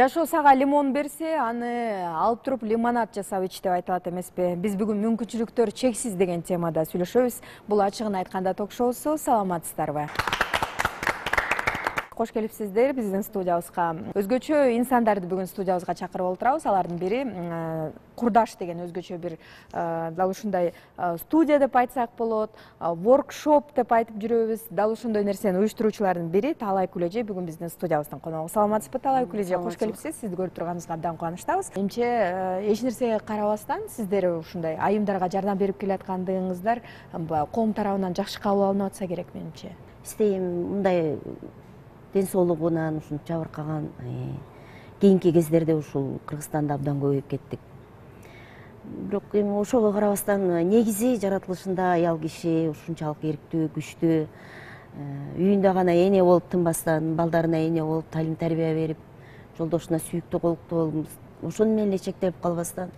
Жашоо сага лимон берсе, аны алып туруп лимонад жасап ич деп айтылат эмеспи? Биз бүгүн мүмкүнчүлүктөр чексиз деген темада сүйлөшөбүз. Бул ачыгын айтканда ток-шоусу. Саламатсыздарбы? Кош келипсиздер биздин студиябызга. Өзгөчө инсандарды бүгүн студиябызга чакырып отурабыз. Алардын бири курдаш деген өзгөчө бир дал ушундай студия деп айтсак болот, воркшоп деп айтып жүрөбүз. Дал ошондой нерсени уюштуруучулардын бири Таалай Күлөжи бүгүн биздин студиябыздын коногу. Саламатсызбы, Таалай Күлөжи? Кош келипсиз. Сизди көрүп турганыбызга абдан кубанычтабыз. Эмче эч нерсеге карабастан сиздер ушундай айымдарга жардам берип келаткандыгыңыздар коом тарабынан жакшы кабыл алынып атса керек менимче. Бизде мындай ден соолугунан ушунча жабыркаган кийинки кездерде ушул Кыргызстанда абдан көбөйүп кеттик. Бирок эми ошого карабастан негизи жаратылышында аял киши ушунчалык эрктүү, күчтүү, үйүндө гана эне болуп тынбастан, балдарына эне болуп, талим тарбия берип, жолдошуна сүйүктүү колуктуу болуп, ошону менен эле чектелип калбастан,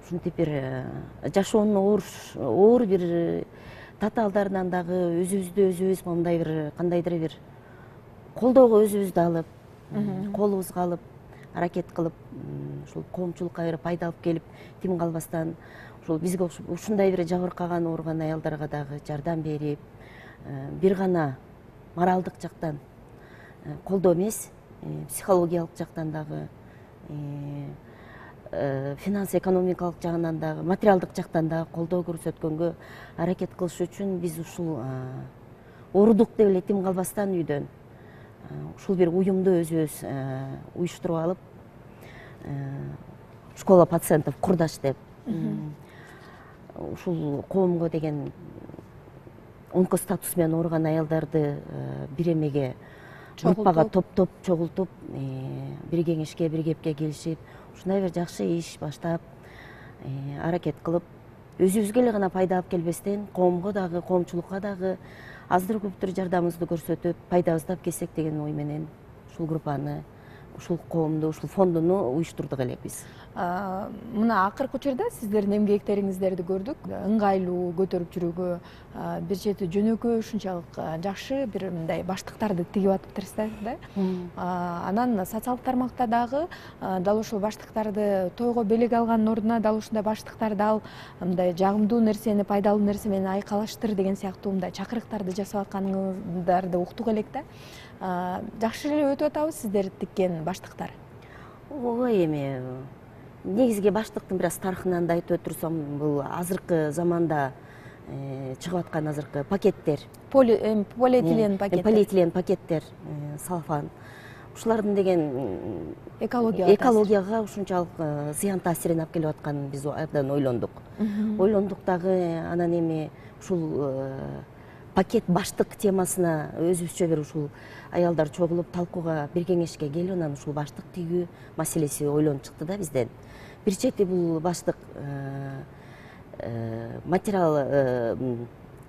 ушинтип бир жашоонун оор бир татаалдарынан дагы өзүбүздү мындай бир кандайдыр бир колдоого өзүбүздү алып, колубузга алып, аракет кылып, ушул коомчулукка бир пайда алып келип, тим калбастан, ушул бизге ушундай бир жабыркаган, ооруган аялдарга дагы жардам берип, бир гана моралдык жактан колдоо эмес, психологиялык жактан дагы, финанс-экономикалык жагынан дагы, материалдык жактан дагы колдоо көрсөткөнгө аракет кылыш үчүн биз ушул оорудук деп эле тим калбастан үйдөн ушул бир уюмду өзүбүз уюштуруп алып, школа пациентов курдаш деп, ушул коомго деген онкостатус менен ооруган аялдарды бир эмеге группага топтоп чогултуп, бир кеңешке, бир кепке келишип, ушундай бир жакшы иш баштап, аракет кылып, өзүбүзгө эле гана пайда алып келбестен, коомго дагы, коомчулукка дагы аздыр көптүр жардамыбызды көрсөтүп, пайдабызды алып келсек деген ой менен ушул группаны, ушул коомду, ушул фондуну уюштурдук элек биз. Мына акыркы учурда сиздердин эмгектериңиздерди көрдүк. Ыңгайлуу көтөрүп жүрүүгө, бир чети жөнөкөй ушунчалык жакшы бир мындай баштыктарды тигип атыптырсыздар да. Анан социалдык тармакта дагы дал ушул баштыктарды тойго белек алгандын ордуна дал ушундай баштыктарды ал мындай жагымдуу нерсени, пайдалуу нерсе менен айкалаштыр деген сыяктуу мындай чакырыктарды жасап атканыңыздарды уктук элек да. Жакшы эле өтүп атабы сиздер тиккен баштыктар? Ой, эми негизги баштыктын бир аз тарыхынан да айтып өтүрсөм, бул азыркы заманда чыгып аткан азыркы пакеттер, полиэтилен пакеттер, салфан, ушулардын деген экологияга ушунчалык зыян таасирин алып келип атканын биз абдан ойлондук. Ойлондук дагы, анан эми ушул пакет баштык темасына өзүбүзчө бир ушул аялдар чогулуп талкууга, бир кеңешке келип, анан ушул баштык тигүү маселеси ойлонуп чыкты да бизден. Бир чети бул баштык материал,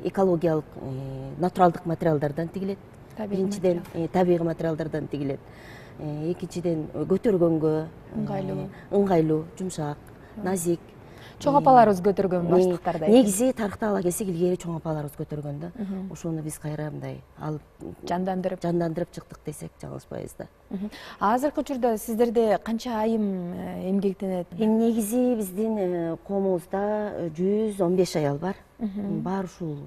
экологиялык, натуралдык материалдардан тигилет. Биринчиден табигый материалдардан тигилет. Экинчиден көтөргөнгө ыңгайлуу, жумшак, назик. Чоң апаларыбыз көтөргөн баштыктарды. Негизи тарыхта ала келсек, илгери чоң апаларыбыз көтөргөн да. Ошону биз кайра мындай алып жандандырып чыктык десек жаңылышпайбыз да. Азыркы учурда сиздерде канча айым эмгектенет? Негизи биздин коомубузда 115 аял бар. Баары ушул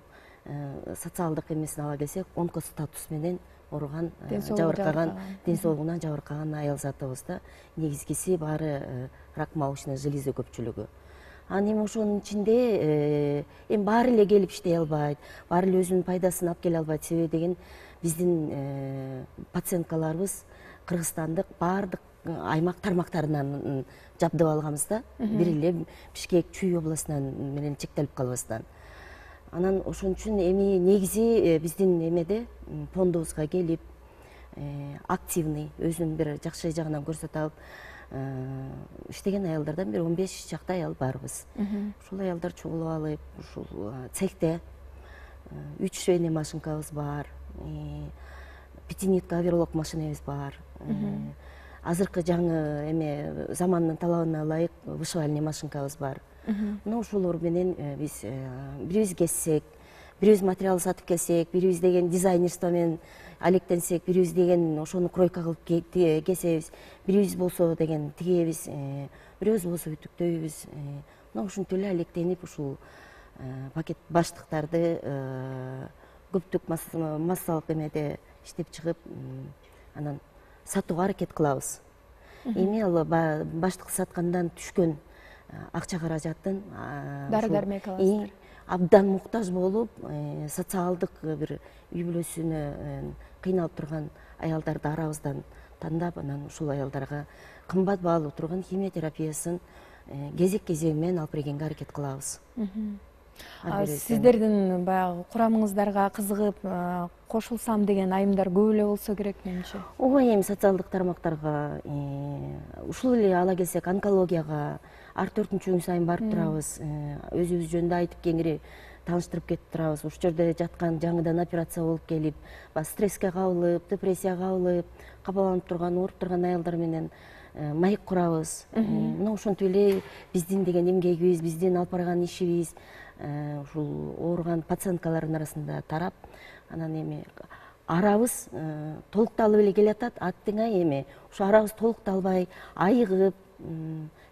социалдык эмесин ала келсек, онкостатус менен ооруган, жабыркаган, ден соолугунан жабыркаган аял затыбыз да. Негизгиси баары рак молочной железы көпчүлүгү. Анан эми ошонун ичинде эми баары эле келип иштей албайт, баары эле өзүнүн пайдасын алып келе албайт. Себеби деген биздин пациенткаларыбыз кыргызстандык баардык аймак тармактарынан жабдып алганбыз да. Бир эле Бишкек, Чүй областынан менен чектелип калбастан. Анан ошон үчүн эми негизи биздин эмеде фондубузга келип, активный, өзүнүн бир жакшы жагынан көрсөтө алып иштеген аялдардан бир 15 чакта аял барбыз. Ушул аялдар чогулуп алып, ушул цехте 3 швейный машинкабыз бар, пятинитка оверлок машинебиз бар. Азыркы жаңы эме замандын талабына ылайык вышивальный машинкабыз бар. Мына ушулор менен биз бирибиз кессек, бирибиз материал сатып келсек, бирибиз деген дизайнерство менен алектенсек, бирибиз деген ошону кройка кылып кесебиз, бирибиз болсо деген тигебиз, бирөөбүз болсо үтүктөйбүз. Мына ушинтип эле алектенип ушул пакет баштыктарды көптүк массалык эмеде иштеп чыгып, анан сатууга аракет кылабыз. Эми ал баштык саткандан түшкөн акча каражатын дары-дармек аласыздар. Абдан муктаж болуп, социалдык бир үй бүлөсүнө кыйналып турган аялдарды арабыздан тандап, анан ушул аялдарга кымбат баалуу турган химия терапиясын кезек-кезеги менен алып бергенге аракет кылабыз. Сиздердин баягы курамыңыздарга кызыгып кошулсам деген айымдар көп эле болсо керек менимче. Ооба, эми социалдык тармактарга, ушул эле ала келсек, онкологияга ар 4-күн сайын барып турабыз. Өзүбүз жөнүндө айтып кеңири тааныштырып кетип турабыз. Ушул жерде жаткан жаңыдан операция болуп келип, стресске кабылып, депрессияга кабылып, капаланып турган, ооруп турган аялдар менен маек курабыз. Мына ошентип эле биздин деген эмгегибиз, биздин алып барган ишибиз ушул ооруган пациенткалардын арасында тарап, анан эми арабыз толукталып эле келатат. Аттыңай эми ушу арабыз толукталбай, айыгып,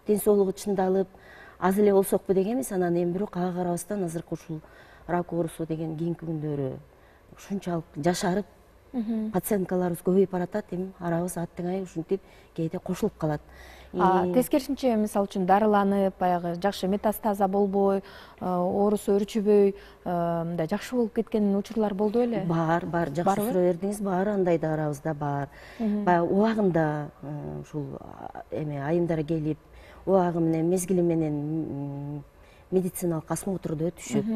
ден соолугу чындалып, аз эле болсокпу дегенбиз. Анан эми бирок ага карабастан азыркы ушул рак оорусу деген кийинки күндөрү ушунчалык жашарып, пациенткаларыбыз көбөйүп баратат. Эми арабыз аттыңай ушинтип кээде кошулуп калат. Тескерисинче, мисалы үчүн дарыланып, баягы жакшы метастаза болбой, оорусу өрчүбөй, мындай жакшы болуп кеткен учурлар болду беле? Бар, жакшы суроо бердиңиз. Бар, андай да арабызда бар. Баягы убагында ушул эми айымдар келип, убагы менен, мезгили менен медициналык осмотрду өтүшүп,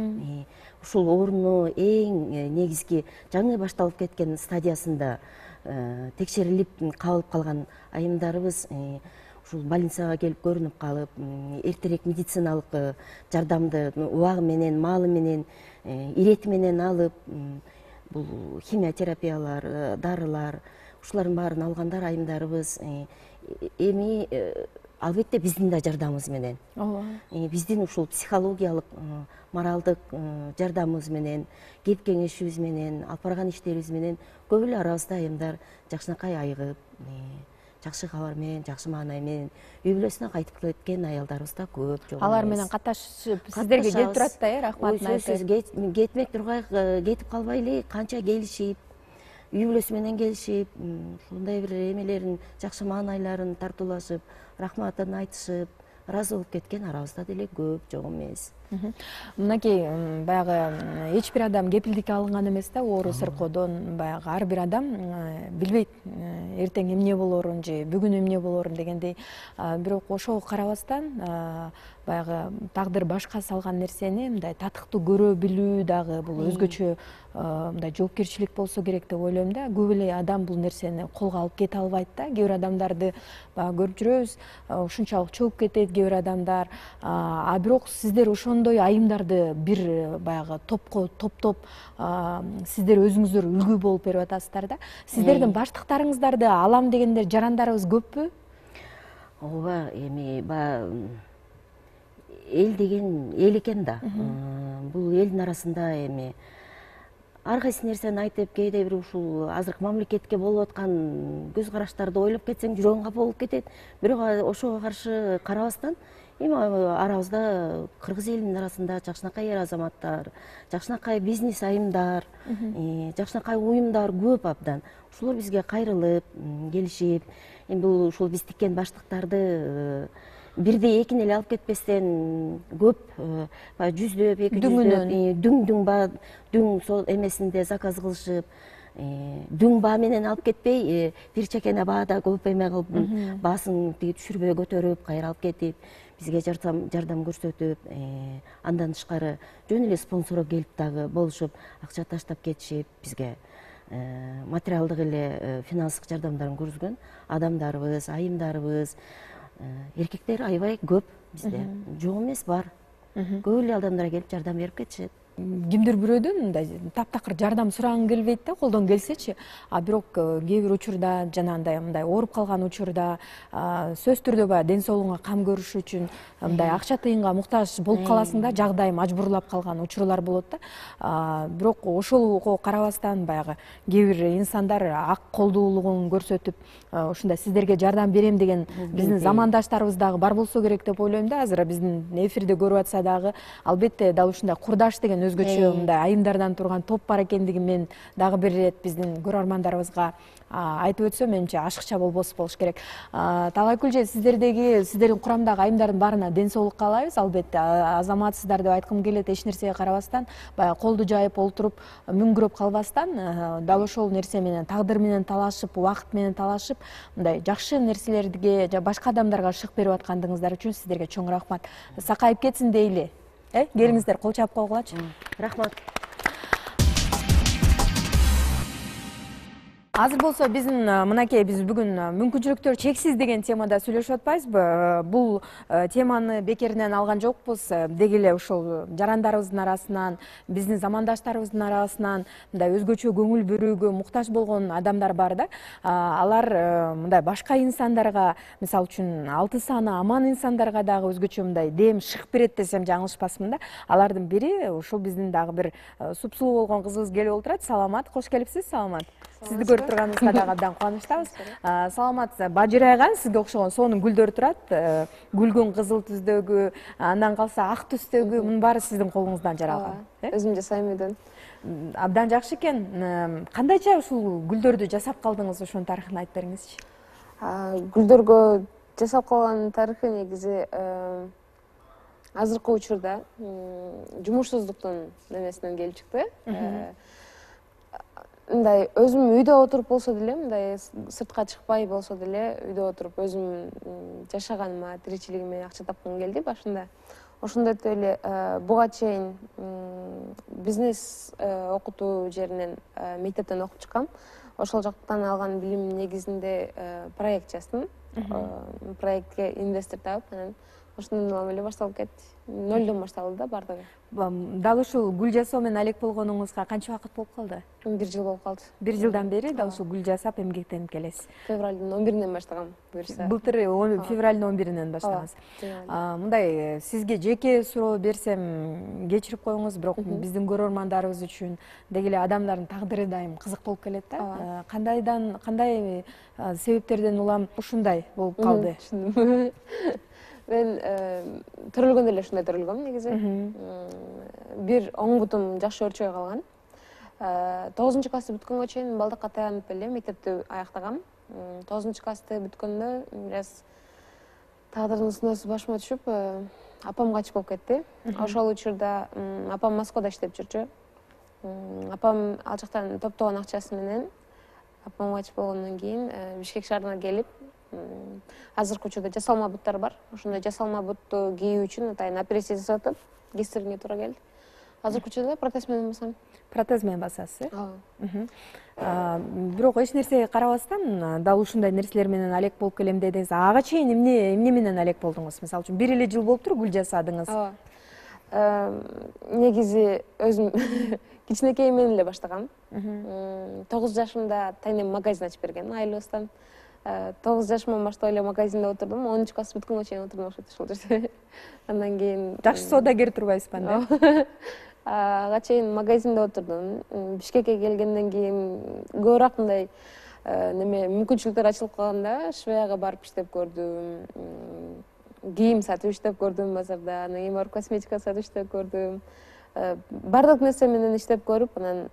ушул ооруну эң негизги жаңы башталып кеткен стадиясында текшерилип кабылып калган айымдарыбыз ушул больницага келип көрүнүп калып, эртерээк медициналык жардамды убагы менен, маалы менен, ирети менен алып, бул химия терапиялар, дарылар, ушулардын баарын алгандар айымдарыбыз эми албетте биздин да жардамыбыз менен, биздин ушул психологиялык, моралдык жардамыбыз менен, кеп кеңешибиз менен, алып барган иштерибиз менен көп эле арабызда айымдар жакшынакай айыгып, жакшы кабар менен, жакшы маанай менен үй бүлөсүнө кайтып кеткен аялдарыбыз да көп, жок эмес. Алар менен каташып сиздерге келип турат да, рахматын айтып. Кетмек тургай, кетип калбай эле канча келишип, үй бүлөсү менен келишип, ушундай бир эмелерин, жакшы маанайларын тартуулашып, рахматын айтышып, ыраазы болуп кеткен арабызда деле көп, жок эмес. Мынакей баягы эч бир адам кепилдикке алынган эмес да, оору сыркоодон. Баягы ар бир адам билбейт эртең эмне болоорун же бүгүн эмне болоорун дегендей. Бирок ошого карабастан баягы тагдыр башка салган нерсени мындай татыктуу көрө билүү дагы бул өзгөчө мындай жоопкерчилик болсо керек деп ойлойм да. Көп эле адам бул нерсени колго алып кете албайт да. Кээ бир адамдарды баягы көрүп жүрөбүз, ушунчалык чогуп кетет кээ бир адамдар. Бирок сиздер ошондой айымдарды бир баягы топтоп сиздер өзүңүздөр үлгү болуп берип атасыздар да. Сиздердин баштыктарыңыздарды алам дегендер жарандарыбыз көппү? Ооба, эми баягы эл деген эл экен да. Бул элдин арасында эми ар кайсы нерсени айтып, кээде бир ушул азыркы мамлекетке болуп аткан көз караштарды ойлоп кетсең жүрөгүң капа болуп кетет. Бирок ошого каршы карабастан эми арабызда кыргыз элинин арасында жакшынакай эр азаматтар, жакшынакай бизнес айымдар, жакшынакай уюмдар көп абдан. Ушулар бизге кайрылып, келишип, эми бул ушул биз тиккен баштыктарды бирдей экин эле алып кетпестен көп, жүздөп, 200дөп, дүң сол эмесинде заказ кылышып, дүң баа менен алып кетпей, бир чекене баада көп эме кылып, баасын түшүрбөй көтөрүп, кайра алып кетип, бизге жардам көрсөтүп, андан тышкары жөн эле спонсор келип дагы болушуп, акча таштап кетишип, бизге материалдык эле финанстык жардамдарын көрсөткөн адамдарыбыз, айымдарыбыз, эркектер аябай көп бизде. Жок эмес, бар. Көп эле адамдар келип жардам берип кетишет. кимдир бирөөдөн мындай таптакыр жардам сурагың келбейт да, колдон келсечи. А бирок кээ бир учурда жанагындай мындай ооруп калган учурда сөзсүз түрдө баягы ден соолугуңа кам көрүш үчүн мындай акча тыйынга муктаж болуп каласың да, жагдай мажбурлап калган учурлар болот да. Бирок ошого карабастан баягы кээ бир инсандар ак колдуулугун көрсөтүп ушундай сиздерге жардам берем деген биздин замандаштарыбыз дагы бар болсо керек деп ойлойм да. Азыр биздин эфирде көрүп атса дагы албетте дал ушундай курдаш деген өзгөчө мындай айымдардан турган топ бар экендигин мен дагы бир ирет биздин көрөрмандарыбызга айтып өтсөм, менимче ашыкча болбос болуш керек. Талайкүл эже, сиздердин курамдагы айымдардын баарына ден соолук каалайбыз. Албетте азаматсыздар деп айткым келет, эч нерсеге карабастан, баягы колду жайып олтуруп, мүңгүрөп калбастан, дал ошол нерсе менен, тагдыр менен талашып, убакыт менен талашып, мындай жакшы нерселерге, башка адамдарга шык берип аткандыгыңыздар үчүн сиздерге чоң рахмат. Сакайып кетсин дейли. Келиңиздер, кол чаап койгулачы. Рахмат. Азыр болсо биздин мынакей биз бүгүн мүмкүнчүлүктөр чексиз деген темада сүйлөшүп атпайбызбы? Бул теманы бекеринен алган жокпуз. Деги эле ошол жарандарыбыздын арасынан, биздин замандаштарыбыздын арасынан мындай өзгөчө көңүл бурүүгө муктаж болгон адамдар бар да. Алар мындай башка инсандарга, мисалы үчүн алты саны аман инсандарга дагы өзгөчө мындай дем шык берет десем жаңылышпасмын да. Алардын бири ушул биздин дагы бир супсулуу болгон кызыбыз келип олтурат. Саламат, кош келипсиз. Саламат. Сизди көрүп турганыбызга дагы абдан кубанычтабыз. Саламат, бажырайган сизге окшогон сонун гүлдөр турат. Гүлгүн кызыл түздөгү, андан калса ак түстөгү, мунун баары сиздин колуңуздан жаралган. Өзүм жасайм үйдөн. Абдан жакшы экен. Кандайча ушул гүлдөрдү жасап калдыңыз, ошонун тарыхын айтып бериңизчи. Гүлдөргө жасап калган тарыхы негизи азыркы учурда жумушсуздуктун немесинен келип чыкты. Мындай өзүм үйдө отуруп болсо деле, мындай сыртка чыкпай болсо деле, үйдө отуруп өзүм жашаганыма, тиричилигиме акча тапкым келди башында. Ошондой эле буга чейин бизнес окутуу жеринен мектептен окуп чыккам. Ошол жактан алган билим негизинде проект жаздым. Проектке инвестор таап, анан ошондон улам эле башталып кетти. Нөлдөн башталды да бардыгы. Дал ушул гүл жасоо менен алек болгонуңузга канча убакыт болуп калды? 1 жыл болуп калды. 1 жылдан бери дал ушул гүл жасап эмгектенип келесиз. Февралдын 11-инен баштагам, буюрса. Былтыр февралдын 11-инен баштагансыз. Мындай сизге жеке суроо берсем кечирип коюңуз, бирок биздин көрөрмандарыбыз үчүн деги эле адамдардын тагдыры дайым кызык болуп келет да. Кандай себептерден улам ушундай болуп калды? Мен төрөлгөндө эле ушундай төрөлгөм негизи. Бир оң бутум жакшы өрчөй калган. 9-классты бүткөнгө чейин балдакка таянып эле мектепти аяктагам. 9-классты бүткөндө бир аз тагдырдын сыноосу башыма түшүп, апам качып болуп кетти. Ошол учурда апам Москвада иштеп жүрчү. Апам ал жактан топтогон акчасы менен апам качып болгондон кийин Бишкек шаарына келип, азыркы учурда жасалма буттар бар. Ошондой жасалма бутту кийүү үчүн атайын операция жасатып, кестирүүгө туура келди. Азыркы учурда протез менен басам. Протез менен басасыз, бирок эч нерсеге карабастан, дал ушундай нерселер менен алек болуп келем дедиңиз. Ага чейин эмне менен алек болдуңуз? Мисалы үчүн 1 эле жыл болуптур гүл жасадыңыз. Негизи өзүм кичинекей менен эле баштагам. 9 жашымда тайнем магазин ачып берген айылыбыздан. 9 жашымдан баштап эле магазинде отурдум. 10-класс бүткөнгө чейин отурдум ошол жерде. Андан кийин жакшы соодагер турбайсызбы анда? Ага чейин магазинде отурдум. Бишкекке келгенден кийин көбүрөөк мындай мүмкүнчүлүктөр ачылып калганда швеяга барып иштеп көрдүм. Кийим сатып иштеп көрдүм базарда, анан кийин барып косметика сатып иштеп көрдүм. Бардык нерсе менен иштеп көрүп, анан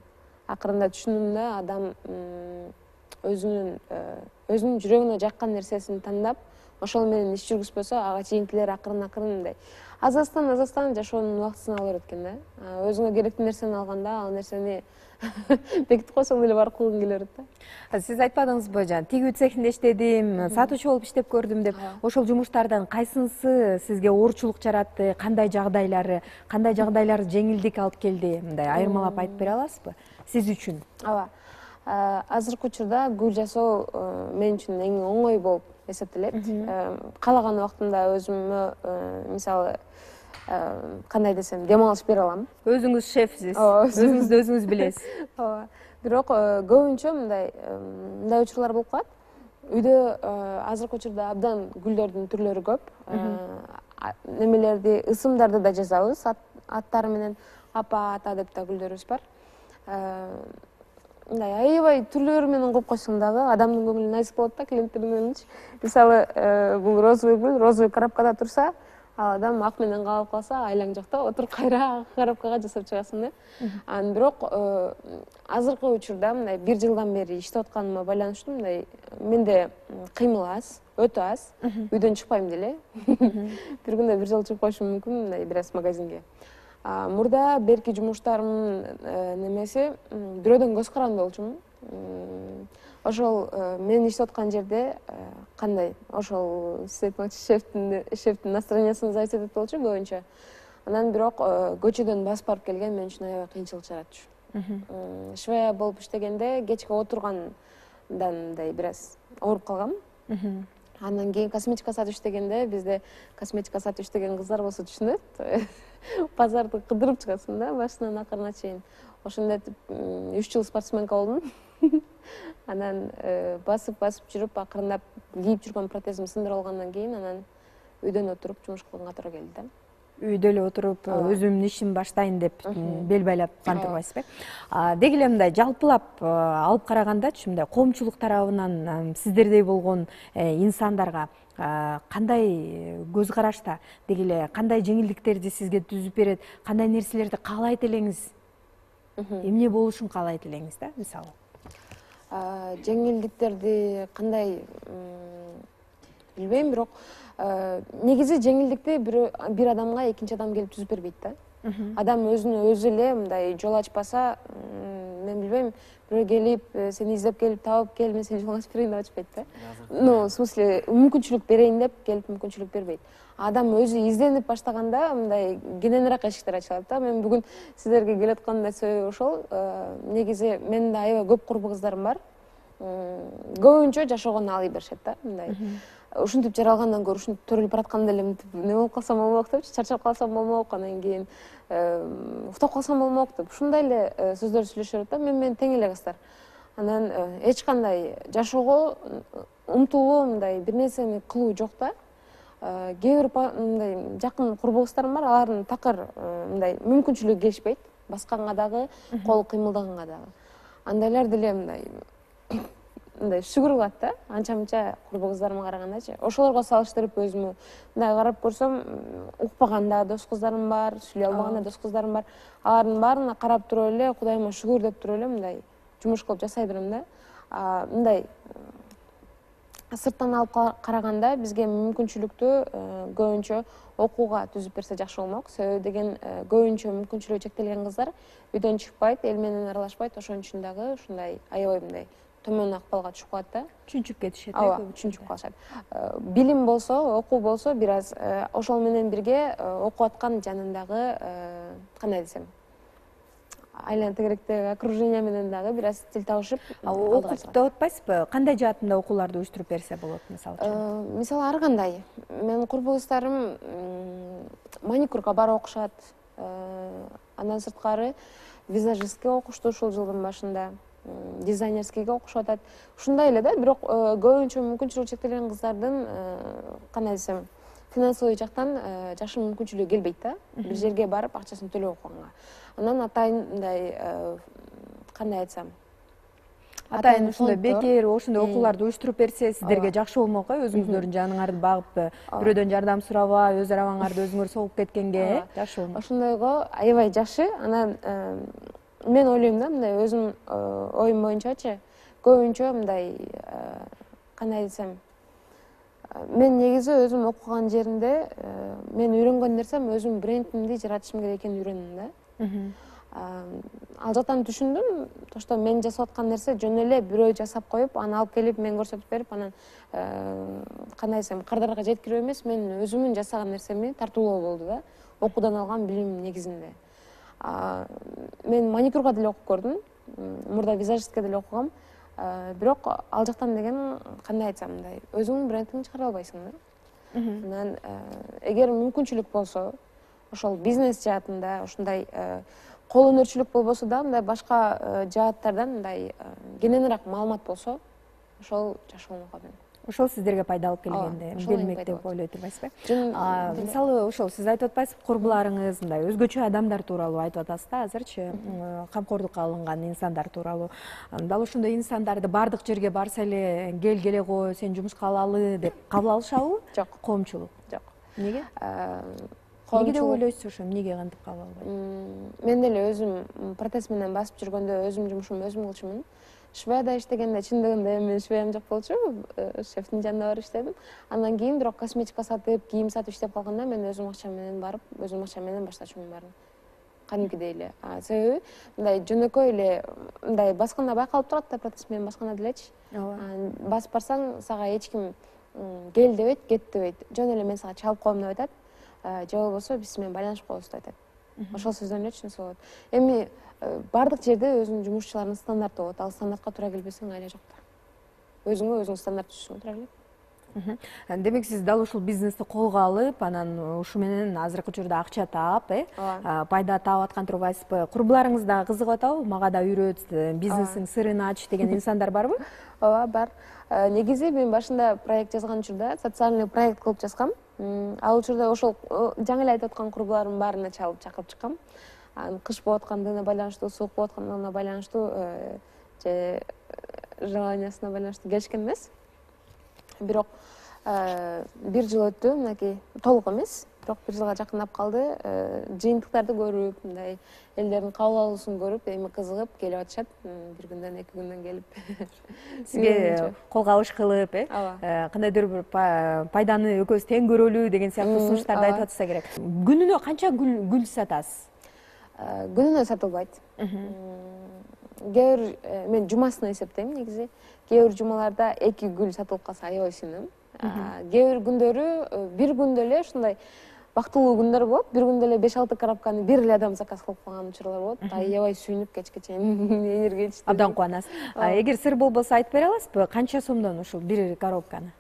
акырында түшүндүм да, адам өзүнүн жүрөгүнө жаккан нерсесин тандап, ошол менен иш жүргүзбөсө, ага чейинкилер акырын мындай азастан жашоонун убактысын ала берет экен да. Өзүңө керектүү нерсени алганда, ал нерсени бекитип койсоң деле барып кылгың келе берет да. Сиз айтпадыңызбы, тигүү цехинде иштедим, сатуучу болуп иштеп көрдүм деп. Ошол жумуштардан кайсынысы сизге оорчулук жаратты? Кандай жагдайлары жеңилдик алып келди? Мындай айырмалап айтып бере аласызбы сиз үчүн? Ооба. Азыркы учурда гүл жасоо мен үчүн эң оңой болуп эсептелет. Каалаган убактымда өзүмө, мисалы, кандай десем, дем алыш бере алам. Өзүңүз шефсиз, Ооба, өзүңүздү өзүңүз билесиз. Ооба. Бирок көбүнчө мындай учурлар болуп калат. Үйдө азыркы учурда абдан гүлдөрдүн түрлөрү көп. Немелерди, ысымдарды да жазабыз, аттары менен апа, ата деп да гүлдөрүбүз бар. Мындай аябай түрлөрү менен коюп койсоң дагы адамдын көңүлүнө найзык болот да, клиенттердин көңүлүнчү. Мисалы, бул розовый гүл, розовый коробкада турса, ал адам ак менен калып калса, айлаң жок да, отуруп кайра коробкага жасап чыгасың да. Анан бирок азыркы учурда мындай 1 жылдан бери иштеп атканыма байланыштуу мындай менде кыймыл аз, өтө аз. Үйдөн чыкпайм деле. Бир күндө 1 жолу чыгып коюшум мүмкүн, мындай бир аз магазинге. Мурда берки жумуштарымдын немеси бирөөдөн көз каранды болчумун. Ошол мен иштеп аткан жерде кандай, ошол сиз айтканча шефтин настроениясына зависить этет болчу көбүнчө. Анан бирок көчөдөн басып барып келген мен үчүн аябай кыйынчылык жаратчу. Швея болуп иштегенде кечке отургандан мындай бир аз ооруп калгам. Андан кийин косметика сатып иштегенде, бизде косметика сатып иштеген кыздар болсо түшүнөт. Базарды кыдырып чыгасың да, башынан акырына чейин. Ошондой этип 3 жыл спортсменка болдум. Анан басып жүрүп, акырындап кийип жүргөн протезим сындырып алгандан кийин анан үйдөн отуруп жумуш кылганга туура келди да. Үйдө эле отуруп өзүмдүн ишимди баштайын деп бел байлап турбайсызбы? Деги эле мындай жалпылап алып карагандачы, мындай коомчулук тарабынан сиздердей болгон инсандарга кандай көз карашта, деги эле кандай жеңилдиктерди сизге түзүп берет, кандай нерселерди каалайт элеңиз? Эмне болушун каалайт элеңиз да, мисалы? Жеңилдиктерди кандай билбейм, бирок негизи жеңилдикти бир адамга экинчи адам келип түзүп бербейт да. Адам өзүнө өзү эле мындай жол ачпаса, мен билбейм, бирөө келип, сени издеп келип табып кел, мен сени жолго ачып берейин деп ачпайт да. Ну, в смысле, мүмкүнчүлүк берейин деп келип мүмкүнчүлүк бербейт. Адам өзү изденип баштаганда мындай кененирээк эшиктер ачылат да. Мен бүгүн сиздерге келаткандын себеби ошол. Негизи менин да аябай көп курбу кыздарым бар. Көбүнчө жашоогон алый беришет да, мындай. Ушинтип жаралгандан көрө ушинтип төрөлүп бараткан элем, не болуп калсам болмок депчи, чарчап калсам болмок, анан кийин уктап калсам болмок деп ушундай эле сөздөр сүйлөшүп да. Мен тең эле кыздар. Анан эч кандай жашоого умтулуу мындай бир нерсени кылуу жок да. Кээ бир мындай жакын курбу кыздарым бар, алардын такыр мындай мүмкүнчүлүгү келишпейт, басканга дагы, кол кыймылдаганга дагы. Андайлар деле мындай шүгүр кылат да, анча-мынча курбу кыздарыма карагандачы. Ошолорго салыштырып өзүмө мындай карап көрсөм, укпаган да дос кыздарым бар, сүйлөй албаган да дос кыздарым бар. Алардын баарына карап туруп эле, Кудайыма шүгүр деп туруп эле мындай жумуш кылып жасай берем да. Мындай сырттан алып караганда бизге мүмкүнчүлүктү көбүнчө окууга түзүп берсе жакшы болмок. Себеби деген көбүнчө мүмкүнчүлүгү чектелген кыздар үйдөн чыкпайт, эл менен аралашпайт, ошон үчүн дагы ушундай аябай мындай төмөн акыбалга түшүп калат да. Чүнчүп кетишет. Ооба, чүнчүп калышат. Билим болсо, окуу болсо, бир аз ошол менен бирге окуп аткан жанындагы кандай десем, айлана тегеректеги окружение менен дагы бир аз тил табышып, окуп деп атпайсызбы? Кандай жаатында окууларды уюштуруп берсе болот, мисалы үчүн? Мисалы ар кандай. Менин курбу кыздарым маникюрга барып окушат. Андан сырткары визажистке окушту ушул жылдын башында. Дизайнерскийге окушуп атат. Ушундай эле да, бирок көбүнчө мүмкүнчүлүгү чектелген кыздардын кандай десем, финансовый жактан жакшы мүмкүнчүлүгү келбейт да. Бир жерге барып акчасын төлөп окуганга. Анан атайын мындай кандай айтсам, атайын ушундай бекер ошондой окууларды уюштуруп берсе сиздерге жакшы болмок, өзүңүздөрдүн жаныңарды багып, бирөөдөн жардам сурабай, өз арабаңарды өзүңөр согуп кеткенге жакшы болмок. Ошондойго аябай жакшы. Анан мен ойлойм да, мындай өзүм оюм боюнчачы, көбүнчө мындай кандай десем, мен негизи өзүм окуган жеримде мен үйрөнгөн нерсем өзүм брендимди жаратышым керек экенин үйрөндүм да. Ал жактан түшүндүм, что мен жасап аткан нерсе жөн эле бирөө жасап коюп, аны алып келип мен көрсөтүп берип, анан кандай десем, кардарга жеткирүү эмес, мен өзүмүн жасаган нерсеми тартуулоо болду да, окуудан алган билимим негизинде. Мен маникюрга деле окуп көрдүм, мурда визажистке деле окугам, бирок ал жактан деген кандай айтсам, мындай өзүңдүн брендиңди чыгара албайсың да. Анан эгер мүмкүнчүлүк болсо, ошол бизнес жаатында ушундай кол өнөрчүлүк болбосо да мындай башка жааттардан мындай кененирээк маалымат болсо ошол жакшы болмок менен. Ошол сиздерге пайда алып келгенде келмек деп ойлой турбайсызбы? Мисалы ошол сиз айтып атпайсызбы, курбуларыңыз мындай өзгөчө адамдар тууралуу айтып атасыз да азырчы, камкордукка алынган инсандар тууралуу. Дал ошондой инсандарды бардык жерге барса эле келе кой, сени жумушка алалы деп кабыл алышабы? Жок. Коомчулук. Жок. Эмнеге? Эмне деп ойлойсуз ошо? Эмнеге кантип кабыл албайт? Мен деле өзүм протез менен басып жүргөндө өзүм жумушумду өзүм кылчумун. Швеяда иштегенде чындыгында эми швеям жок болчу, шефтин жанына барып иштедим. Андан кийин бирок косметика сатып, кийим сатып иштеп калганда мен өзүм акчам менен барып, өзүм акчам менен баштачумун баарын. Кадимкидей эле. Себеби мындай жөнөкөй эле мындай басканда байкалып турат да, протез менен басканда делечи. Басып барсаң, сага эч ким кел дебейт, кет дебейт. Жөн эле мен сага чалып коем деп айтат. Же болбосо биз сиз менен байланышып коебуз деп айтат. Ошол сөздөрдөн эле түшүнсө болот. Эми бардык жерде өзүнүн жумушчуларынын стандарты болот. Ал стандартка туура келбесең айла жок да. Өзүң стандарт түзүшүңө туура келет. Демек сиз дал ушул бизнести колго алып, анан ушу менен азыркы учурда акча таап, пайда таап аткан турбайсызбы? Курбуларыңыз дагы кызыгып атабы? Мага да үйрөт, бизнестин сырын ач деген инсандар барбы? Ооба, бар. Негизи мен башында проект жазган учурда социальный проект кылып жазгам. Ал учурда ошол жаңы эле айтып аткан курбулардын баарына чакырып чыккам. Кыш болуп аткандыгына байланыштуу, суук болуп аткандыгына байланыштуу же желаниясына байланыштуу келишкен эмес. Бирок бир жыл өттү, мынакей толук эмес, бирок бир жылга жакындап калды. Жыйынтыктарды көрүп, мындай элдердин кабыл алуусун көрүп, эми кызыгып келип атышат. Бир күндөн, 2 күндөн келип. Сизге кол кабыш кылып, кандайдыр бир пайданы экөөбүз тең көрөлү деген сыяктуу сунуштарды айтып атса керек. Күнүнө канча гүл сатасыз? Күнүнө сатылбайт. Кээ бир мен жумасына эсептейм негизи. Кээ бир жумаларда 2 гүл сатылып калса аябай сүйүнөм. Кээ бир күндөрү бир күндө эле ушундай бактылуу күндөр болот. Бир күндө эле 5-6 коробканы бир эле адам заказ кылып калган учурлар болот. Аябай сүйүнүп кечке чейин энергия Абдан кубанасыз. Эгер сыр болбосо айтып бере аласызбы, канча сомдон ушул бир коробканы?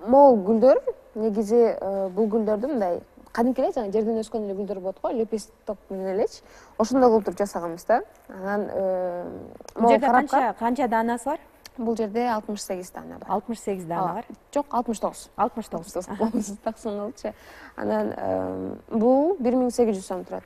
Могул гүлдөр, негизи бул гүлдөрдү мындай кадимки эле жана жерден өскөн эле гүлдөр болот го, лепесток менен элечи. Ошондой кылып туруп жасаганбыз да. Анан бул жерде канча данасы бар? Бул жерде 68 дана бар. 68 дана бар? Жок, 69. 69. Таксын кылчы. Анан бул 1800 сом турат.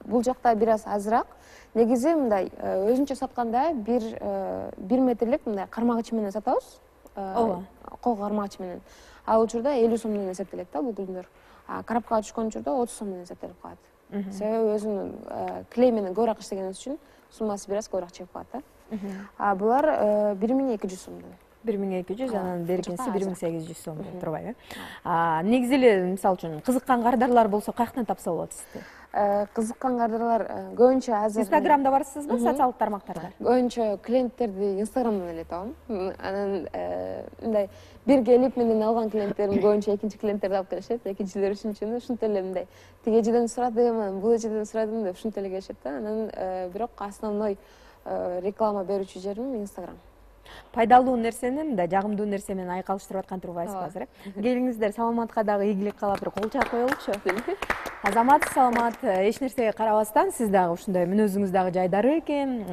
Бул жакта бир аз азыраак. Негизи мындай өзүнчө сатканда 1 метрлик мындай кармагыч менен сатабыз. Ооба. Кол кармагыч менен. Ал учурда 50 сомдон эсептелет да бул гүлдөр. Коробкага түшкөн учурда 30 сом менен эсептелип калат. Себеби өзүнүн клей менен көбүрөөк иштегенибиз үчүн суммасы бир аз көбүрөөк чыгып калат да. Булар 1200 сомдон. 1200, анан беркинси 1800 сом деп турбайбы? Негизи эле мисалы үчүн кызыккан кардарлар болсо каяктан тапса болот сизди? Кызыккан кардарлар көбүнчө азыр Инстаграмда барсызбы, социалдык тармактарда? Көбүнчө клиенттерди Инстаграмдан эле табам. Анан мындай бир келип менден алган клиенттерим көбүнчө экинчи клиенттерди алып келишет, экинчилер, үчүнчүнү ушинтип эле мындай тиги эжеден сурадым, анан бул эжеден сурадым деп ушинтип эле келишет да. Анан бирок основной реклама берүүчү жерим Инстаграм. Пайдалуу нерсени мындай жагымдуу нерсе менен айкалыштырып аткан турбайсызбы азыр? Келиңиздер, Саламатка дагы ийгилик каалап бир кол чаап коелучу. Азамат, Саламат, эч нерсеге карабастан сиз дагы ушундай мүнөзүңүз дагы жайдары экен.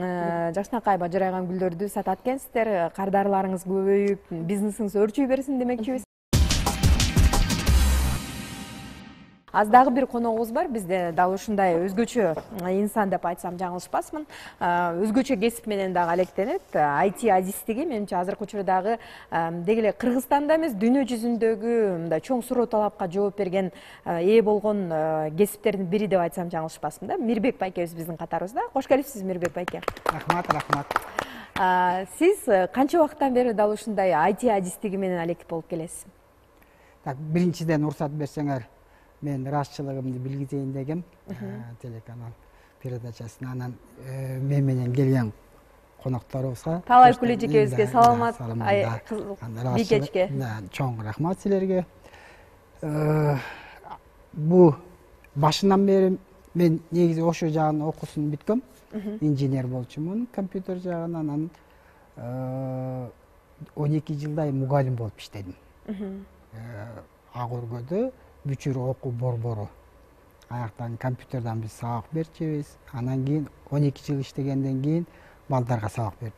Жакшынакай бажырайган гүлдөрдү сатат экенсиздер. Кардарларыңыз көбөйүп, бизнесиңиз өрчүй берсин демекчибиз. Аз дагы бир коногубуз бар. Бизде дал ушундай өзгөчө инсан деп айтсам жаңылышпасмын. Өзгөчө кесип менен дагы алектенет. IT адистиги менимче азыркы учурдагы деги эле Кыргызстанда эмес, дүйнө жүзүндөгү мындай чоң суроо талапка жооп берген, ээ болгон кесиптердин бири деп айтсам жаңылышпасмын да. Мирбек байкебиз биздин катарыбызда. Кош келипсиз, Мирбек байке. Рахмат. Сиз канча убакыттан бери дал ушундай IT адистиги менен алектип болуп келесиз? Биринчиден уруксат берсеңер, мен ырашчылыгымды билгизейин дегем, телеканал передачасына. Анан мен менен келген конокторубузга, Талай Кулежекебизге, Саламат бийкечке чоң рахмат силерге. Бу башынан бери мен негизи ошо жагын окуусун бүткөм. Инженер болчумун, компьютер жагынан. Анан 12 жылдай мугалим болуп иштедим. Ак өргөдө Бүчүр окуу борбору аяктан компьютерден биз сабак берчүбүз. Анан кийин 12 жыл иштегенден кийин балдарга сабак берип,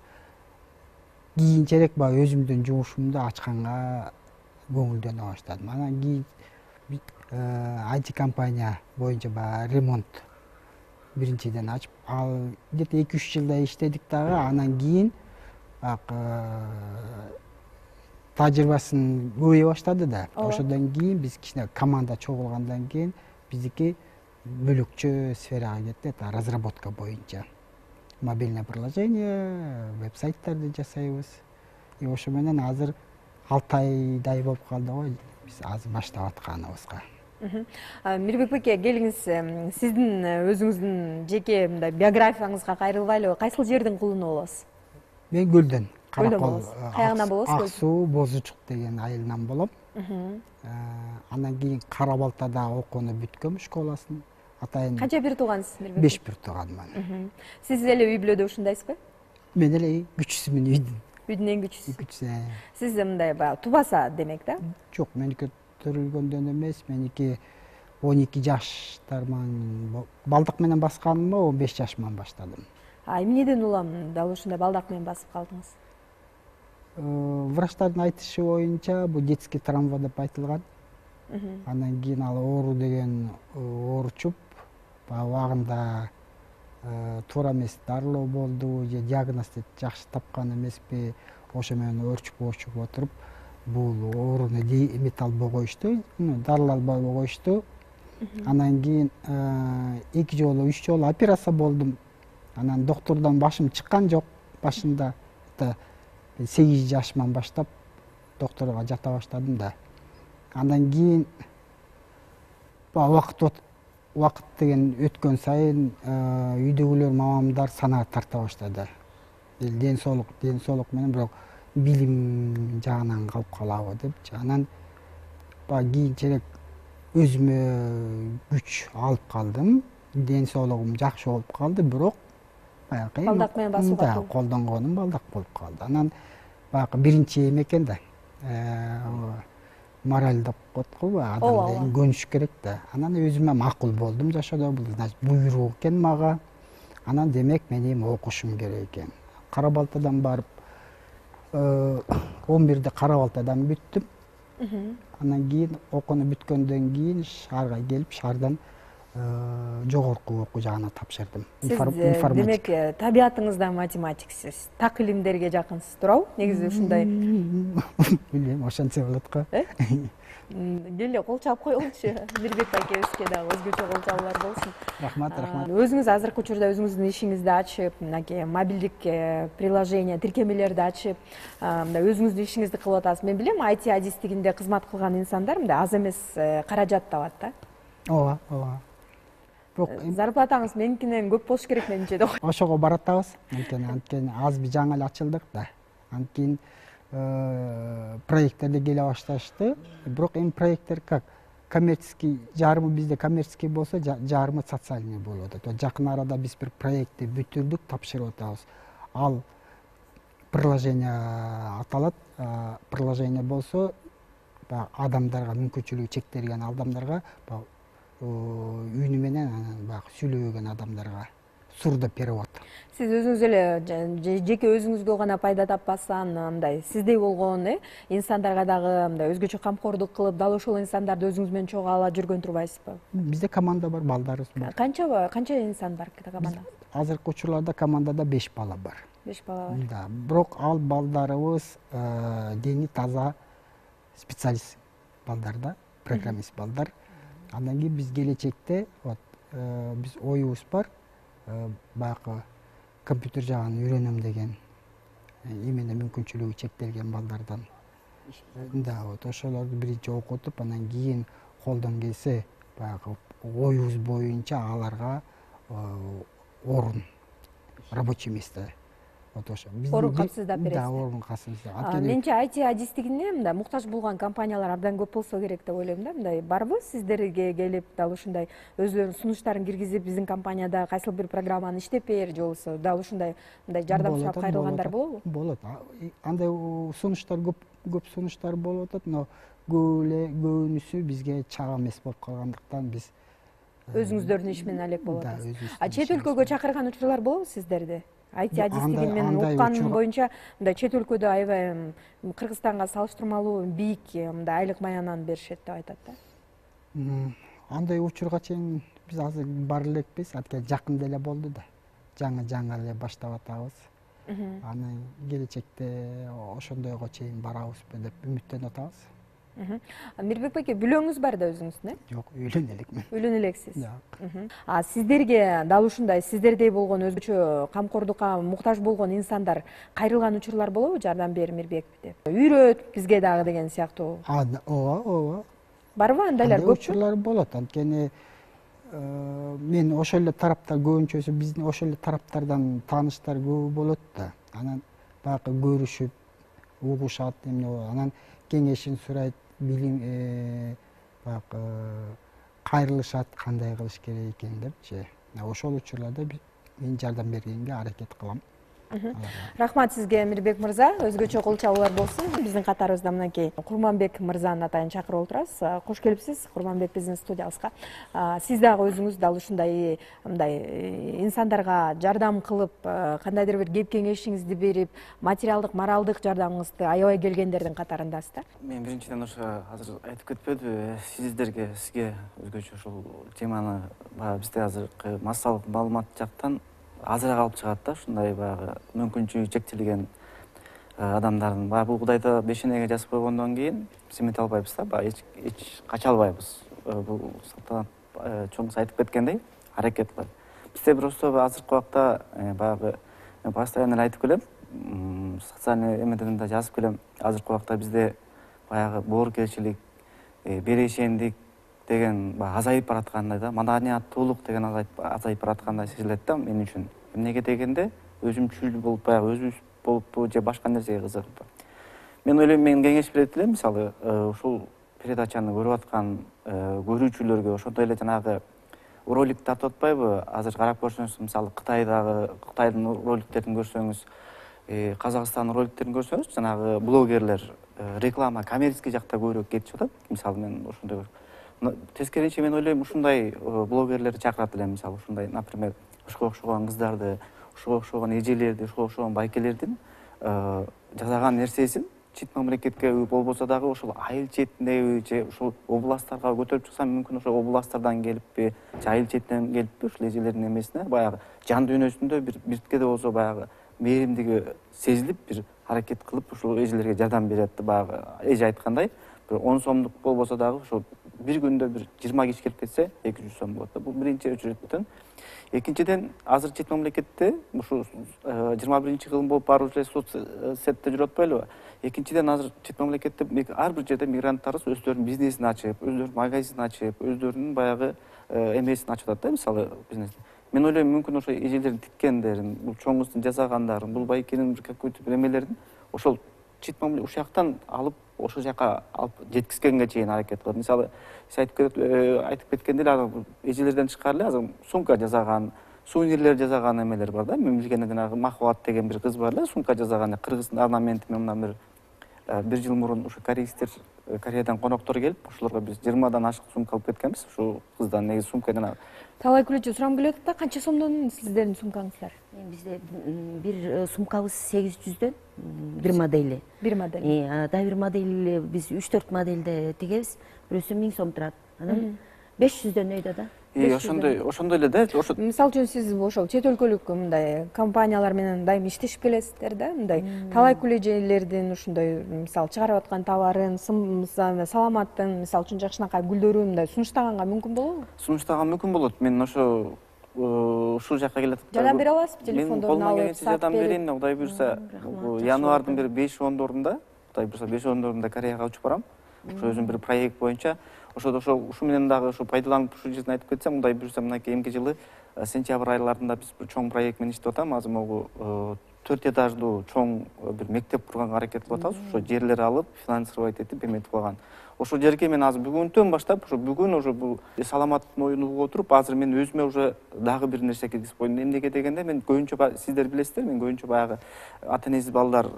кийинчерээк баягы өзүмдүн жумушумду ачканга көңүлдөнө баштадым. Анан кийин IT компания боюнча баягы ремонт биринчиден ачып, ал где-то 2-3 жылдай иштедик дагы. Анан кийин тажрыйбасын көбөйө баштады да. Ошодон кийин биз кичине команда чогулгандан кийин биздики бөлөкчө сферага кетти, это разработка боюнча. Мобильное приложение, веб-сайттарды жасайбыз. И ошо менен азыр 6 айдай болуп калды го биз азыр баштап атканыбызга. Мирбек беке, келиңиз, сиздин өзүңүздүн жеке мындай биографияңызга кайрылбайлы, кайсыл жердин кулуну болосуз? Мен Көлдөн, Каракол, Каягынан болосуз? Ак суу Бозучук деген айылынан болом. Андан кийин Кара Балтада окууну бүткөм, школасын. Атайын Канча бир туугансыз Мирбек? 5 бир тууганмын. Сиз эле үй бүлөдө ушундайсызбы? Мен эле күчүсүмүн үйдүн. Үйдүн эң күчүсү. Күчүсү. Сиз мындай баягы тубаса демек да? Жок, меники төрөлгөндөн эмес, меники 12 жаштарман балдак менен басканымда 15 жашыман баштадым. Эмнеден улам дал ушундай балдак менен басып калдыңыз? Врачтардын айтышы боюнча бул детский травма деп айтылган. Андан кийин ал оору деген ооручуп, убагында туура эмес дарылоо болду же диагнозду жакшы тапкан эмеспи, ошо менен өөрчүп отуруп бул ооруну эмете албай коюшту, дарылай албай коюшту. Андан кийин 2 жолу 3 жолу операция болдум. Анан доктурдан башым чыккан жок башында. 8 жашыман баштап докторго жата баштадым да. Андан кийин убакыт деген өткөн сайын үйдөгүлөр мамамдар санаа тарта баштады. Ден соолук менен бирок билим жагынан калып калабы депчи. Анан кийинчерээк өзүмө күч алып калдым. Ден соолугум жакшы болуп калды, бирок баягы балдак менен басууга колдонгонум балдак болуп калды. Анан баягы биринчи эме экен да. Мораль деп коет го, адамды көнүш керек да. Анан өзүмө макул болдум жашоодо, бул значит буйрук экен мага. Анан демек мен эми окушум керек экен. Кара Балтадан барып 11-де Кара Балтадан бүттүм. Андан кийин окууну бүткөндөн кийин шаарга келип, шаардан жогорку окуу жагына тапшырдым. Демек, табиятыңызда математиксиз, так илимдерге жакынсыз, туурабы? Негизи ушундай. Билбейм, ошентсе болот го. Келе кол чаап коелучу. Мирбек акебизге дагы өзгөчө кол чабуулар болсун. Рахмат. Өзүңүз азыркы учурда өзүңүздүн ишиңизди ачып, мынакей мобилдик приложение, тиркемелерди ачып, мындай өзүңүздүн ишиңизди кылып атасыз. Мен билем, IT адистигинде кызмат кылган инсандар мындай аз эмес каражат табат да. Ооба. Зарплатаңыз меникинен көп болуш керек менимче да. Ошого баратабыз. Анткени азыр жаңы эле ачылдык да. Анткени проекттер келе башташты. Бирок эми проекттер как коммерческий, жарымы бизде коммерческий болсо, жарымы социальный болуп атат. Жакын арада биз бир проектти бүтүрдүк, тапшырып атабыз. Ал приложение аталат. Приложение болсо адамдарга, мүмкүнчүлүгү чектелген адамдарга үйүнү менен баягы сүйлөбөгөн адамдарга сурдо перевод. Сиз өзүңүз эле жеке өзүңүзгө гана пайда таппастан, мындай сиздей болгон инсандарга дагы мындай өзгөчө камкордук кылып, дал ошол инсандарды өзүңүз менен чогуу ала жүргөн турбайсызбы? Бизде команда бар, балдарыбыз бар. Канча инсан бар командада? Азыркы учурларда командада 5 бала бар. 5 бала бар. Да, бирок ал балдарыбыз дени таза специалист балдар да, программист балдар. Андан кийин биз келечекте биз оюбуз бар, баягы компьютер жагын үйрөнөм деген эмне мүмкүнчүлүгү чектелген балдардан. Да, ошолорду биринчи окутуп, андан кийин колдон келсе баягы оюбуз боюнча аларга орун, рабочий место. Орун капсыздап бересиз. Да, орун капсыздап. Менче IT адистигине мындай муктаж болгон компаниялар абдан көп болсо керек деп ойлойм да. Мындай барбы сиздерге келип, дал ушундай өздөрүнүн сунуштарын киргизип, биздин компанияда кайсыл бир программаны иштеп бер, же болбосо дал ушундай мындай жардам сурап кайрылгандар болобу? Болот. Андай сунуштар көп сунуштар болуп атат, но көбүнүсү бизге чак эмес болуп калгандыктан биз өзүңүздөрдүн иш менен алек болуп Да, атасыз. өзүбүздүн Чет өлкөгө чакырган учурлар болобу сиздерди? IT адистиги менен укканым боюнча мындай чет өлкөдө аябай Кыргызстанга салыштырмалуу бийик мындай айлык маянаны беришет деп айтат да. Андай учурга чейин биз азыр бара элекпиз, анткени жакында эле болду да. Жаңы эле баштап атабыз. Анан келечекте ошондойго чейин барабызбы деп үмүттөнүп атабыз. Мирбек байке, бүлөңүз бар да өзүңүздүн, Жок, үйлөнө элекмин. Үйлөнө элексиз. Жок. Сиздерге дал ушундай сиздердей болгон өзгөчө камкордукка муктаж болгон инсандар кайрылган учурлар болобу? Жардам бер Мирбек деп. Үйрөт бизге дагы деген сыяктуу. Ооба. Барбы андайлар көппү? Учурлар болот, анткени мен ошол эле тараптар көбүнчөсү биздин ошол эле тараптардан тааныштар көп болот да. Анан баягы көрүшүп, угушат, анан кеңешин сурайт, билим баягы кайрылышат, кандай кылыш керек экен депчи. Ошол учурларда мен жардам бергенге аракет кылам. Рахмат сизге Мирбек мырза, өзгөчө кол чабуулар болсун. Биздин катарыбызда мынакей Курманбек мырзанын атайын чакырып отурабыз. Кош келипсиз Курманбек биздин студиябызга. Сиз дагы өзүңүз дал ушундай мындай инсандарга жардам кылып, кандайдыр бир кеп кеңешиңизди берип, материалдык, моралдык жардамыңызды аябай келгендердин катарындасыз да. Мен биринчиден ошо азыр айтып кетпедимби, сизге өзгөчө ушул теманы баягы бизде азыркы массалык маалымат жактан азыраак алып чыгат да, ушундай баягы мүмкүнчүлүгү чектелген адамдардын баягы бул Кудайда бешенеге жазып койгондон кийин семете албайбыз да, баягы эч кача албайбыз. Бул салтанат чоңуңуз айтып кеткендей аракет кылат. Бизде просто азыркы убакта баягы мен постоянно эле айтып келем, социальный эмеден да жазып келем. Азыркы убакта бизде баягы боорукерчилик, берешендик деген азайып бараткандай да, маданияттуулук деген азайып бараткандай сезилет да мен үчүн. Эмнеге дегенде өзүмчүл болуп баягы өзүбүз болуппу же башка нерсеге кызыгыппы. Мен ойлойм, мен кеңеш берет элем, мисалы ушул передачаны көрүп аткан көрүүчүлөргө ошондой эле жанагы ролик тартып атпайбы? Азыр карап көрсөңүз, мисалы Кытайдын роликтерин көрсөңүз, Казакстандын роликтерин көрсөңүз, жанагы блогерлер реклама, коммерческий жакта көбүрөөк кетишип атат. Мисалы мен ошондой тескерисинче мен ойлойм, ушундай блогерлерди чакырат элем, мисалы ушундай, например, ушуга окшогон кыздарды, ушуга окшогон эжелерди, ушуга окшогон байкелердин жасаган нерсесин чет мамлекетке болбосо дагы ошол айыл четиндеби же ушул областтарга көтөрүп чыкса, мүмкүн ошол областтардан келиппи же айыл четинен келиппи ушул эжелердин эмесине баягы жан дүйнөсүндө бир биртке да болсо баягы мээримдиги сезилип, бир аракет кылып ушул эжелерге жардам берет. Баягы эже айткандай, бир 10 сомдук болбосо дагы ошол бир күндө бир 20 киши келип кетсе 200 сом болот да. Бул биринчи өчүрөттөн. Экинчиден, азыр чет мамлекетте ушу 21-кылым болуп барып эле соцсетте жүрүп атпайлыбы? Экинчиден, азыр чет мамлекетте ар бир жерде мигранттарыбыз өздөрүнүн бизнесин ачып, өздөрүнүн магазинин ачып, өздөрүнүн баягы эмесин ачып атат да, мисалы бизнесин. Мен ойлойм, мүмкүн ошо эжелердин тиккендерин, бул чоң кыздын жасагандарын, бул байкенин бир какой-то бир эмелерин ошол чет мамлекет ушул жактан алып, ошол жака алып жеткизгенге чейин аракет кылат. Мисалы, сиз айтып кеткендей эле эжелерден тышкары эле азыр сумка жасаган, сувенирлер жасаган эмелер бар да. Мен билгенде жанагы Махват деген бир кыз бар эле, сумка жасаган, кыргыздын орнаменти менен бир жыл мурун ушу корейстер, Кореядан коноктор келип, ошолорго биз 20дан ашык сумка алып кеткенбиз. Ушул кыздан негизи сумка жанагы. Талай күлөчү сурам келип атат да, канча сомдон сиздердин сумкаңыздар? Бизде бир сумкабыз 800дөн, бир модели. Бир модель. Да, бир модель биз 3-4 модельде тигебиз. Бирөөсү 1000 сом турат. Анан 500дөн өйдө да. Ошондой эле да. Мисалы үчүн сиз ошол чет өлкөлүк мындай компаниялар менен дайым иштешип келесиздер да, мындай талай күлөжелердин ушундай мисалы чыгарып аткан товарын, саламаттын, мисалы үчүн жакшынакай гүлдөрүн мындай сунуштаганга мүмкүн болобу? Сунуштаганга мүмкүн болот. Мен ошо ушул жака келе атат. Жардам бере аласызбы? Телефондорун алып, жардам берейин. Кудай буюрса, январдын бир 5-10дорунда, Кудай буюрса 5-10дорунда Кореяга учуп барам. Ошо өзүм бир проект боюнча. Ушу менен дагы ушу пайдаланып ушул жерден айтып кетсем, Кудай буюрса, мынакей эмки жылы сентябрь айларында биз бир чоң проект менен иштеп атам. Азыр могу 4 этаждуу чоң бир мектеп курганга аракет кылып атабыз. Ошо жерлер алып, финансировать этип эметип калган. Ошол жерге мен азыр бүгүнтөн баштап, бүгүн уже бул саламаттын оюн угуп отуруп, азыр мен өзүмө уже дагы бир нерсе киргизип койдум. Эмнеге дегенде, мен көбүнчө сиздер билесиздер, мен көбүнчө баягы ата-энеси балдар,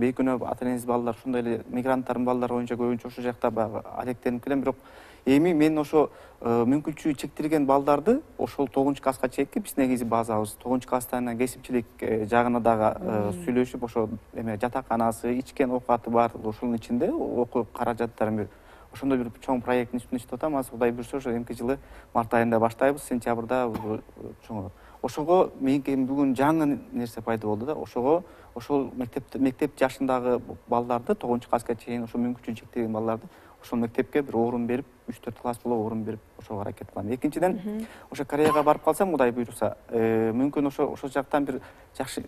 бейкүнөө ата-энеси балдар, ошондой эле мигранттардын балдары боюнча көбүнчө ошол жакта баягы алектенип келем, бирок Эми мен ошо мүмкүнчүлүгү чектелген балдарды ошол 9-класска чейинки биз негизи базабыз 9-класстан анан кесипчилик жагына дагы сүйлөшүп, ошо эме жатаканасы, ичкен оокаты бар, ошонун ичинде окуу каражаттарын берип ошондой бир чоң проекттин үстүндө иштеп атам. Азыр Кудай буйрса ошо эмки жылы март айында баштайбыз, сентябрда чоң. Ошого меники бүгүн жаңы нерсе пайда болду да. Ошого ошол мектеп жашындагы балдарды 9-класска чейин ошо мүмкүнчүлүгү чектелген балдарды ошол мектепке бир орун берип, 3-4 класс боло орун берип ошого аракет кылам. Экинчиден, ошо Кореяга барып калсам, Кудай буйруса, мүмкүн ошол жактан бир жакшы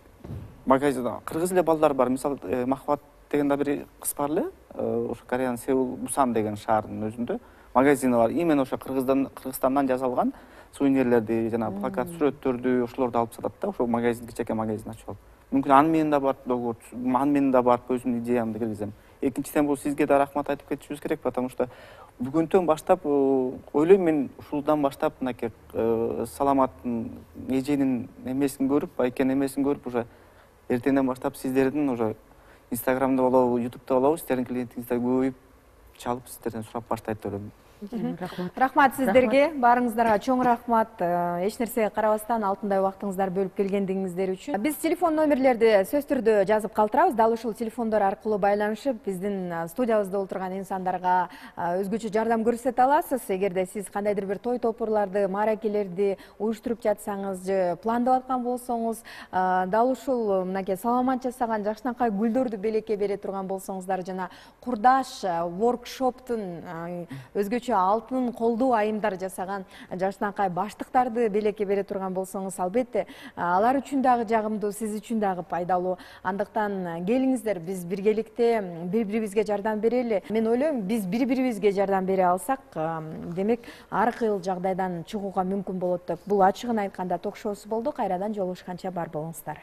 магазин, кыргыз эле балдар бар. Мисалы, Махаббат деген да бир кыз бар эле, ошо Кореянын Сеул, Бусан деген шаарынын өзүндө магазини бар. Именно ошо Кыргызстандан жасалган сувенирлерди, жана плакат, сүрөттөрдү ошолорду алып сатат да. Ошол магазин, кичээкей магазин ачып алып. Мүмкүн аны менен да барып договор, аны менен да барып өзүмдүн идеямды киргизем. Экинчиден, бул сизге да рахмат айтып кетишибиз керек, потому что бүгүнтөн баштап ойлойм мен ушулдан баштап мынакей саламаттын эженин эмесин көрүп, байкенин эмесин көрүп, уже эртеңден баштап сиздердин уже Инстаграмда болобу, Ютубта болобу, сиздердин клиентиңиздер көбөйүп, чалып сиздерден сурап баштайт деп ойлойм. Рахмат сиздерге, баарыңыздарга чоң рахмат. Эч нерсеге карабастан алтындай убактыңыздар бөлүп келгендигиңиздер үчүн. Биз телефон номерлерди сөз түрдө жазып калтырабыз. Дал ушул телефондор аркылуу байланышып, биздин студиябызда отурган инсандарга өзгөчө жардам көрсөтө аласыз. Эгерде сиз кандайдыр бир той топурларды, мааракелерди уюштуруп жатсаңыз же пландап аткан болсоңуз, дал ушул мынакей саламат жасаган жакшынакай гүлдөрдү белекке бере турган болсоңуздар, жана курдаш воркшоптун өзгөчө алтын колдуу айымдар жасаган жакшынакай баштыктарды белекке бере турган болсоңуз, албетте алар үчүн дагы жагымдуу, сиз үчүн дагы пайдалуу. Андыктан келиңиздер, биз биргеликте бири-бирибизге жардам берели. Мен ойлойм, биз бири-бирибизге жардам бере алсак, демек ар кыл жагдайдан чыгууга мүмкүн болот деп. Бул ачыгын айтканда ток шоусу болду. Кайрадан жолугушканча бар болуңуздар.